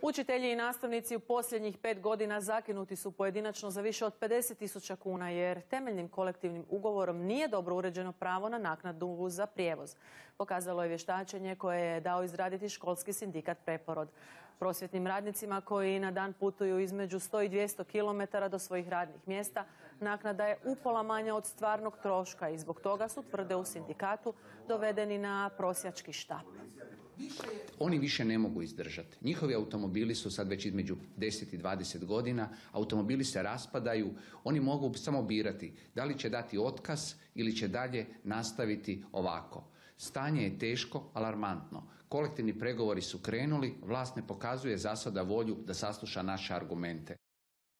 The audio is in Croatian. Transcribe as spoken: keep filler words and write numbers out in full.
Učitelji i nastavnici u posljednjih pet godina zakinuti su pojedinačno za više od pedeset tisuća kuna jer temeljnim kolektivnim ugovorom nije dobro uređeno pravo na naknadu za prijevoz. Pokazalo je vještačenje koje je dao izraditi školski sindikat Preporod. Prosvjetnim radnicima koji na dan putuju između sto i dvjesto kilometara do svojih radnih mjesta naknada je upola manja od stvarnog troška i zbog toga su, tvrde u sindikatu, dovedeni na prosjački štap. Oni više ne mogu izdržati. Njihovi automobili su sad već između deset i dvadeset godina, automobili se raspadaju, oni mogu samo birati da li će dati otkaz ili će dalje nastaviti ovako. Stanje je teško, alarmantno. Kolektivni pregovori su krenuli, vlast ne pokazuje za sada volju da sasluša naše argumente.